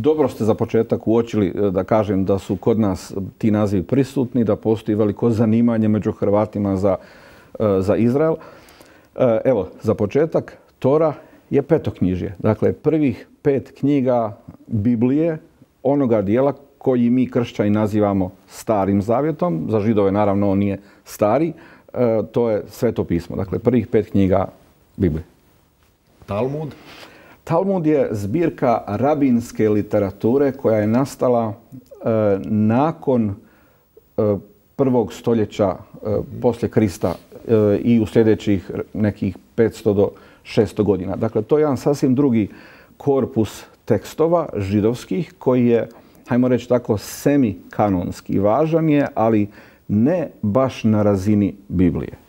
dobro ste za početak uočili, da kažem, da su kod nas ti nazivi prisutni, da postoji veliko zanimanje među Hrvatima za Izrael. Evo, za početak, Tora je petoknjižje. Dakle, prvih 5 knjiga Biblije, onoga dijela koji mi kršćani nazivamo Starim zavjetom. Za Židove, naravno, on nije stari. To je Sveto pismo. Dakle, prvih 5 knjiga Biblije. Talmud? Talmud je zbirka rabinske literature koja je nastala nakon 1. stoljeća poslije Krista i u sljedećih nekih 500 do 600 godina. Dakle, to je jedan sasvim drugi korpus tekstova židovskih koji je, hajmo reći tako, semikanonski. Važan je, ali ne baš na razini Biblije.